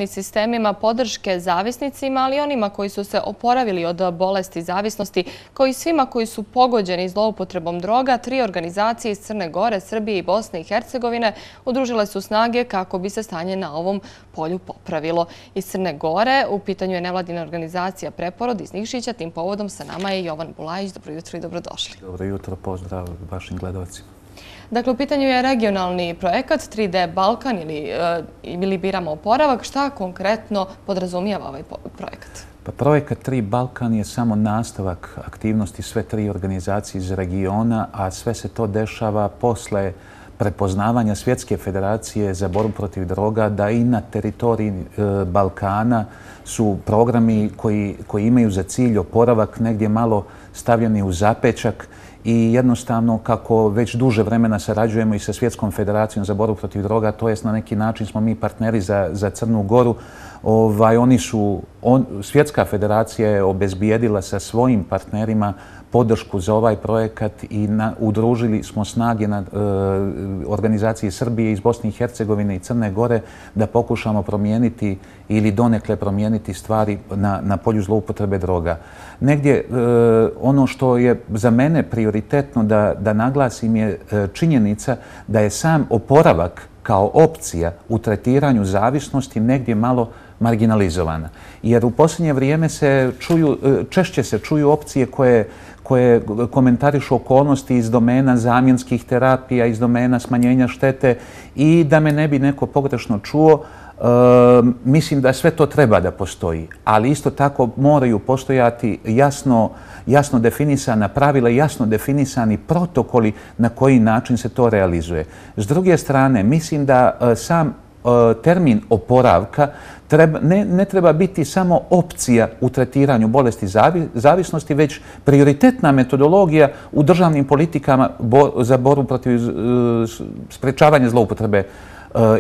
sistemima podrške zavisnicima, ali i onima koji su se oporavili od bolesti zavisnosti, kao i svima koji su pogođeni zloupotrebom droga, 3 organizacije iz Crne Gore, Srbije i Bosne i Hercegovine udružile su snage kako bi se stanje na ovom polju popravilo. Iz Crne Gore u pitanju je nevladina organizacija Preporod iz Nikšića. Tim povodom sa nama je Jovan Bulajić. Dobro jutro i dobrodošli. Dobro jutro, pozdrav vašim gledalcima. Dakle, u pitanju je regionalni projekat 3D Balkan ili Biramo oporavak. Šta konkretno podrazumijeva ovaj projekat? Pa projekat 3 Balkan je samo nastavak aktivnosti sve 3 organizacije iz regiona, a sve se to dešava posle prepoznavanja Svjetske federacije za borbu protiv droga da i na teritoriji Balkana su programi koji imaju za cilj oporavak negdje malo stavljeni u zapećak i jednostavno kako već duže vremena sarađujemo i sa Svjetskom federacijom za borbu protiv droga, to jest na neki način smo mi partneri za Crnu Goru. Svjetska federacija je obezbijedila sa svojim partnerima podršku za ovaj projekat i udružili smo snage na organizacije Srbije iz Bosne i Hercegovine i Crne Gore da pokušamo promijeniti ili donekle promijeniti stvari na polju zloupotrebe droga. Negdje ono što je za mene prioritetno da naglasim je činjenica da je sam oporavak kao opcija u tretiranju zavisnosti negdje malo marginalizovana. Jer u posljednje vrijeme češće se čuju opcije koje komentarišu okolnosti iz domena zamjenskih terapija, iz domena smanjenja štete i da me ne bi neko pogrešno čuo, mislim da sve to treba da postoji, ali isto tako moraju postojati jasno definisana pravila i jasno definisani protokoli na koji način se to realizuje. S druge strane, mislim da sam termin oporavka ne treba biti samo opcija u tretiranju bolesti zavisnosti, već prioritetna metodologija u državnim politikama za borbu protiv sprečavanja zloupotrebe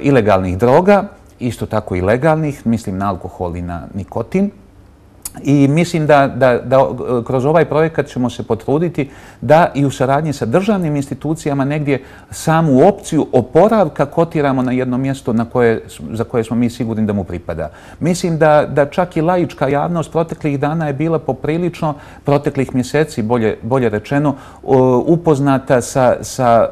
ilegalnih droga, isto tako i legalnih, mislim na alkohol i na nikotin. I mislim da kroz ovaj projekat ćemo se potruditi da i u saradnji sa državnim institucijama negdje samu opciju oporavka kotiramo na jedno mjesto za koje smo mi sigurni da mu pripada. Mislim da čak i laička javnost proteklih dana je bila poprilično, proteklih mjeseci, bolje rečeno, upoznata sa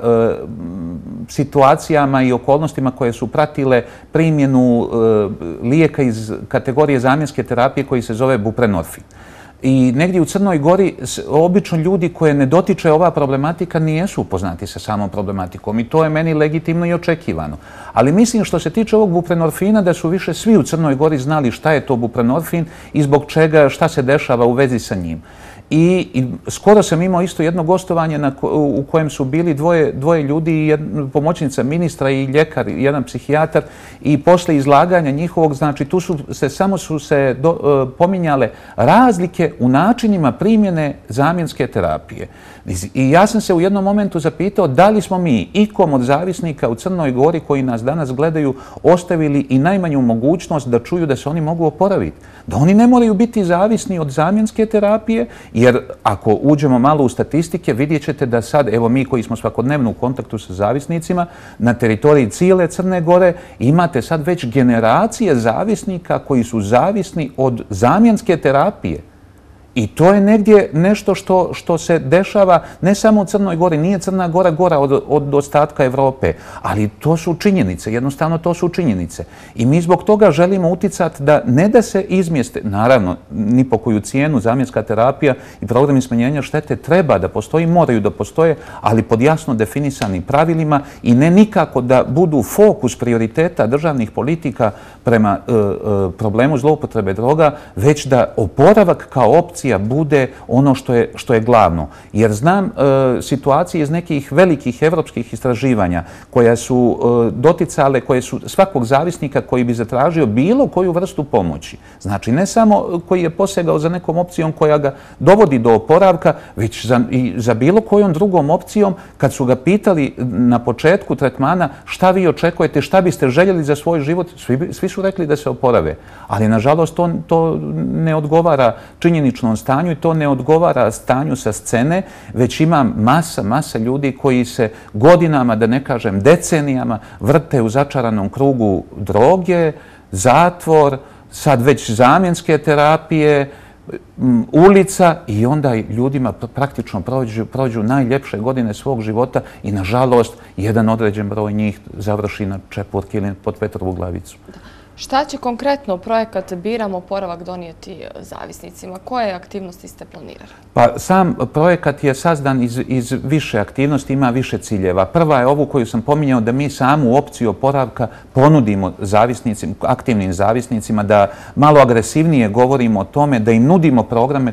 situacijama i okolnostima koje su pratile primjenu lijeka iz kategorije zamjenske terapije koji se zove buprenorfin. I negdje u Crnoj Gori obično ljudi koje ne dotiče ova problematika nijesu upoznati sa samom problematikom i to je meni legitimno i očekivano. Ali mislim što se tiče ovog buprenorfina da su više svi u Crnoj Gori znali šta je to buprenorfin i zbog čega, šta se dešava u vezi sa njim. I skoro sam imao isto jedno gostovanje u kojem su bili dvoje ljudi, pomoćnica ministra i ljekar, jedan psihijatar i posle izlaganja njihovog, znači tu samo su se pominjale razlike u načinima primjene zamjenske terapije. I ja sam se u jednom momentu zapitao da li smo mi ikom od zavisnika u Crnoj Gori koji nas danas gledaju ostavili i najmanju mogućnost da čuju da se oni mogu oporaviti. Da oni ne moraju biti zavisni od zamjenske terapije, jer ako uđemo malo u statistike vidjet ćete da sad, evo mi koji smo svakodnevno u kontaktu sa zavisnicima, na teritoriji cijele Crne Gore imate sad već generacije zavisnika koji su zavisni od zamjenske terapije. I to je negdje nešto što se dešava ne samo u Crnoj Gori, nije Crna Gora gora od ostatka Evrope, ali to su činjenice, jednostavno to su činjenice. I mi zbog toga želimo uticati da ne da se izmjeste, naravno, ni po koju cijenu zamjenska terapija i programi smanjenja štete treba da postoji, moraju da postoje, ali pod jasno definisanim pravilima i ne nikako da budu fokus prioriteta državnih politika prema problemu zloupotrebe droga, već da oporavak kao opcija bude ono što je glavno. Jer znam situacije iz nekih velikih evropskih istraživanja koja su doticale, koje su svakog zavisnika koji bi zatražio bilo koju vrstu pomoći. Znači ne samo koji je posegao za nekom opcijom koja ga dovodi do oporavka, već i za bilo kojom drugom opcijom kad su ga pitali na početku tretmana šta vi očekujete, šta biste željeli za svoj život, svi su rekli da se oporave. Ali nažalost to ne odgovara činjeničnom stanju i to ne odgovara stanju sa scene, već ima masa ljudi koji se godinama, da ne kažem decenijama, vrte u začaranom krugu droge, zatvor, sad već zamjenske terapije, ulica i onda ljudima praktično prođu najljepše godine svog života i nažalost jedan određen broj njih završi na čepurki ili pod Petrovu glavicu. Šta će konkretno projekat Biram oporavak donijeti zavisnicima? Koje aktivnosti ste planirali? Pa sam projekat je sazdan iz više aktivnosti, ima više ciljeva. Prva je ovu koju sam pominjao, da mi samu opciju oporavka ponudimo aktivnim zavisnicima, da malo agresivnije govorimo o tome, da im nudimo programe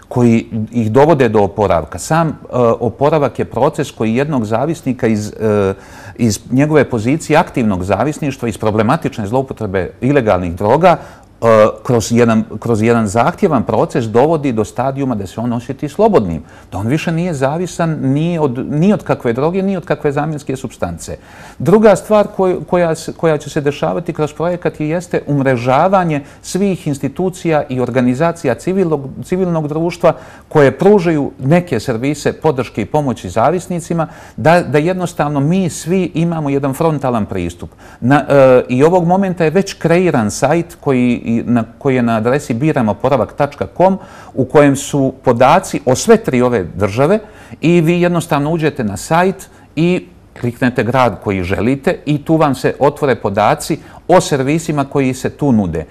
koji ih dovode do oporavka. Sam oporavak je proces koji jednog zavisnika iz njegove pozicije aktivnog zavisništva, iz problematične zloupotrebe ilegalnih droga, kroz jedan zahtjevan proces dovodi do stadijuma da se on osjeti slobodnim, da on više nije zavisan ni od kakve droge, ni od kakve zamjenske supstance. Druga stvar koja će se dešavati kroz projekat jeste umrežavanje svih institucija i organizacija civilnog društva koje pružaju neke servise podrške i pomoći zavisnicima, da jednostavno mi svi imamo jedan frontalan pristup. I ovog momenta je već kreiran sajt koji je na adresi biramoporavak.com u kojem su podaci o sve tri ove države i vi jednostavno uđete na sajt i kliknete grad koji želite i tu vam se otvore podaci o servisima koji se tu nude.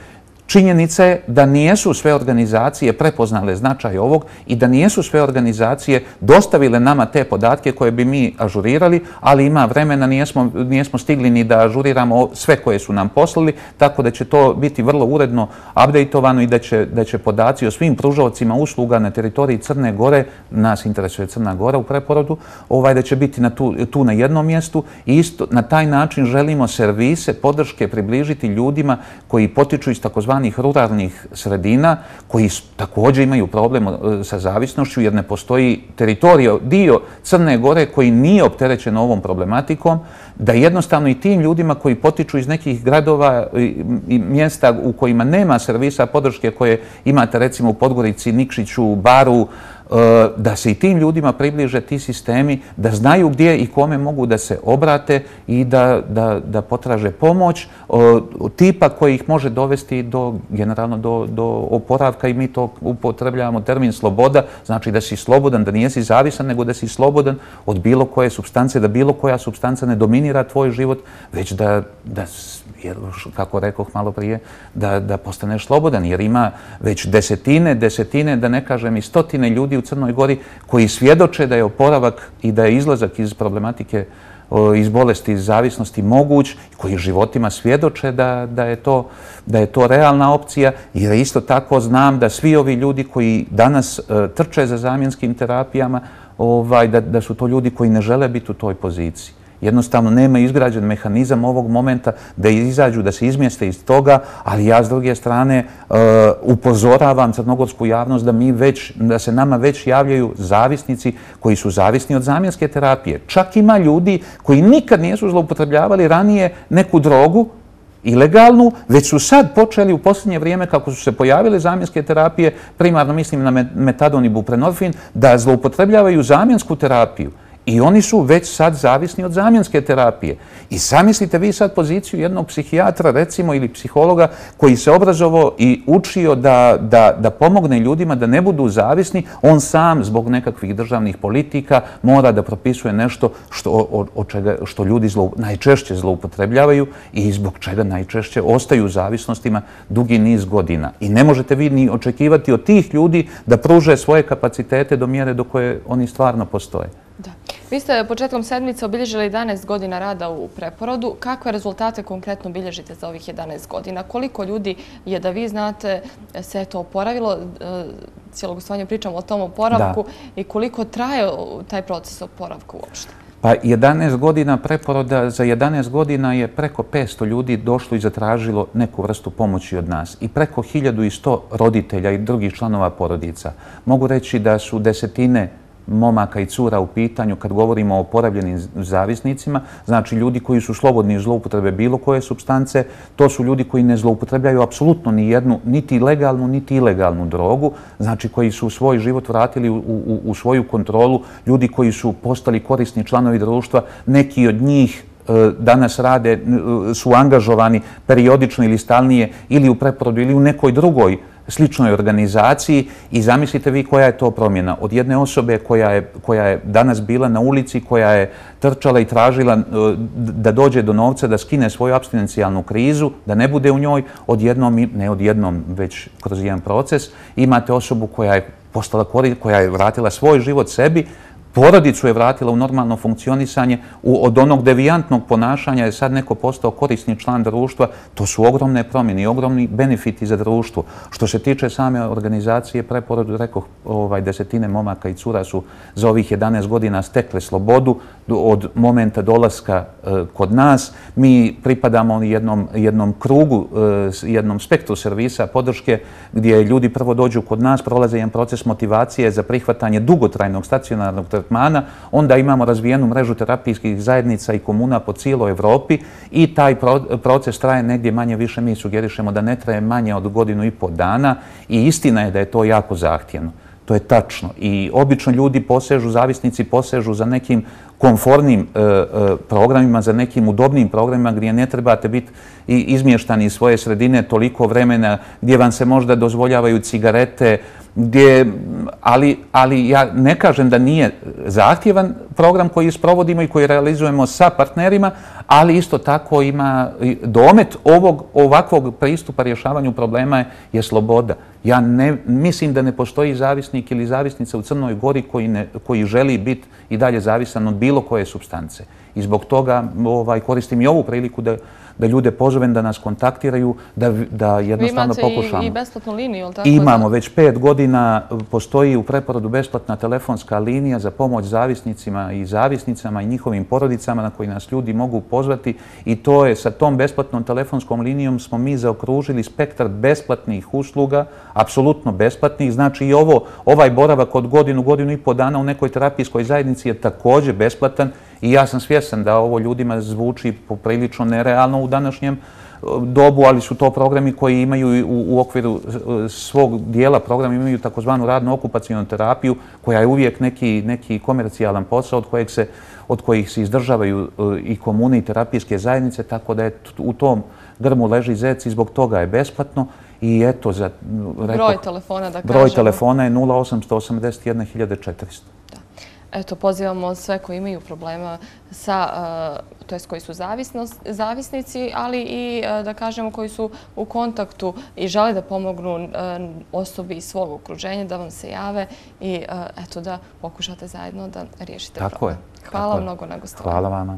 Činjenica je da nijesu sve organizacije prepoznale značaj ovog i da nijesu sve organizacije dostavile nama te podatke koje bi mi ažurirali, ali ima vremena, nijesmo stigli ni da ažuriramo sve koje su nam poslali, tako da će to biti vrlo uredno updateovano i da će podaci o svim pružaocima usluga na teritoriji Crne Gore, nas interesuje Crna Gora u preporodu, da će biti tu na jednom mjestu i isto na taj način želimo servise, podrške približiti ljudima koji potiču iz takozvanih ruralnih sredina, koji također imaju problem sa zavisnošću jer ne postoji dio Crne Gore koji nije opterećen ovom problematikom, da jednostavno i tim ljudima koji potiču iz nekih gradova i mjesta u kojima nema servisa podrške koje imate recimo u Podgorici, Nikšiću, Baru, da se i tim ljudima približe ti sistemi, da znaju gdje i kome mogu da se obrate i da potraže pomoć tipa koji ih može dovesti generalno do oporavka i mi to upotrebljavamo termin sloboda, znači da si slobodan, da nijesi zavisan, nego da si slobodan od bilo koje supstance, da bilo koja supstanca ne dominira tvoj život, već da kako rekoh malo prije, da postaneš slobodan, jer ima već desetine, da ne kažem i stotine ljudi u Crnoj Gori koji svjedoče da je oporavak i da je izlazak iz problematike, iz bolesti, iz zavisnosti moguć, koji životima svjedoče da je to realna opcija, jer isto tako znam da svi ovi ljudi koji danas trče za zamjenskim terapijama, da su to ljudi koji ne žele biti u toj poziciji. Jednostavno nema izgrađen mehanizam ovog momenta da izađu, da se izmjeste iz toga, ali ja s druge strane upozoravam crnogorsku javnost da se nama već javljaju zavisnici koji su zavisni od zamjenske terapije. Čak ima ljudi koji nikad nisu zloupotrebljavali ranije neku drogu, ilegalnu, već su sad počeli u posljednje vrijeme, kako su se pojavile zamjenske terapije, primarno mislim na metadon i buprenorfin, da zloupotrebljavaju zamjensku terapiju. I oni su već sad zavisni od zamjenske terapije. I zamislite vi sad poziciju jednog psihijatra, recimo, ili psihologa koji se obrazovao i učio da pomogne ljudima da ne budu zavisni, on sam zbog nekakvih državnih politika mora da propisuje nešto što ljudi najčešće zloupotrebljavaju i zbog čega najčešće ostaju u zavisnostima dugi niz godina. I ne možete vi ni očekivati od tih ljudi da pruže svoje kapacitete do mjere do koje oni stvarno postoje. Da. Vi ste početkom sedmice obilježili 11 godina rada u preporodu. Kakve rezultate konkretno bilježite za ovih 11 godina? Koliko ljudi je, da vi znate, se to oporavilo? Cijelo gostovanje pričamo o tom oporavku i koliko traje taj proces oporavka uopšte? Pa 11 godina preporoda, za 11 godina je preko 500 ljudi došlo i zatražilo neku vrstu pomoći od nas i preko 1100 roditelja i drugih članova porodica. Mogu reći da su desetine momaka i cura u pitanju kad govorimo o oporavljenim zavisnicima, znači ljudi koji su slobodni iz zloupotrebe bilo koje supstance, to su ljudi koji ne zloupotrebljaju apsolutno ni jednu, niti legalnu, niti ilegalnu drogu, znači koji su svoj život vratili u svoju kontrolu, ljudi koji su postali korisni članovi društva, neki od njih danas rade, su angažovani periodično ili stalnije ili u preporodu ili u nekoj drugoj sličnoj organizaciji i zamislite vi koja je to promjena. Od jedne osobe koja je danas bila na ulici, koja je trčala i tražila da dođe do novca, da skine svoju apstinencijalnu krizu, da ne bude u njoj, odjednom, ne odjednom, već kroz jedan proces, imate osobu koja je postala koja je vratila svoj život sebi, porodicu je vratila u normalno funkcionisanje, od onog devijantnog ponašanja je sad neko postao korisni član društva. To su ogromne promjene i ogromni benefiti za društvo. Što se tiče same organizacije preporodu, rekoh, desetine momaka i cura su za ovih 11 godina stekle slobodu od momenta dolaska kod nas. Mi pripadamo jednom krugu, jednom spektru servisa podrške gdje ljudi prvo dođu kod nas, prolaze jedan proces motivacije za prihvatanje dugotrajnog stacionarnog tretmana, onda imamo razvijenu mrežu terapijskih zajednica i komuna po cijeloj Evropi i taj proces traje negdje manje više, mi sugerišemo da ne traje manje od 1,5 dana i istina je da je to jako zahtjevno. To je tačno i obično ljudi zavisnici posežu za nekim komfornim programima, za nekim udobnim programima gdje ne trebate biti izmještani iz svoje sredine toliko vremena, gdje vam se možda dozvoljavaju cigarete, ali ja ne kažem da nije zahtjevan program koji sprovodimo i koji realizujemo sa partnerima, ali isto tako ima domet ovakvog pristupa rješavanju problema je sloboda. Ja mislim da ne postoji zavisnik ili zavisnica u Crnoj Gori koji želi biti i dalje zavisan od bilo koje supstance. I zbog toga koristim i ovu priliku da ljude pozovem da nas kontaktiraju, da jednostavno pokušamo. Vi imate i besplatnu liniju, ili tako? Imamo, već 5 godina postoji u preporodu besplatna telefonska linija za pomoć zavisnicima i zavisnicama i njihovim porodicama na koji nas ljudi mogu pozvati i to je sa tom besplatnom telefonskom linijom smo mi zaokružili spektar besplatnih usluga, apsolutno besplatnih. Znači i ovaj boravak od godinu i pol dana u nekoj terapijskoj zajednici je također besplatan i ja sam svjestan da ovo ljudima zvuči poprilično nerealno u današnjem dobu, ali su to programi koji imaju u okviru svog dijela programa imaju takozvanu radno-okupacionu terapiju koja je uvijek neki komercijalan posao od kojih se izdržavaju i komune i terapijske zajednice, tako da je u tom grmu leži zec i zbog toga je besplatno. I eto, broj telefona da kažemo. Broj telefona je 0881 1400. Eto, pozivamo sve koji imaju problema to jest koji su zavisnici, ali i da kažemo koji su u kontaktu i žele da pomognu osobi iz svog okruženja, da vam se jave i eto da pokušate zajedno da riješite problem. Tako je. Hvala mnogo na gostovanju. Hvala vama.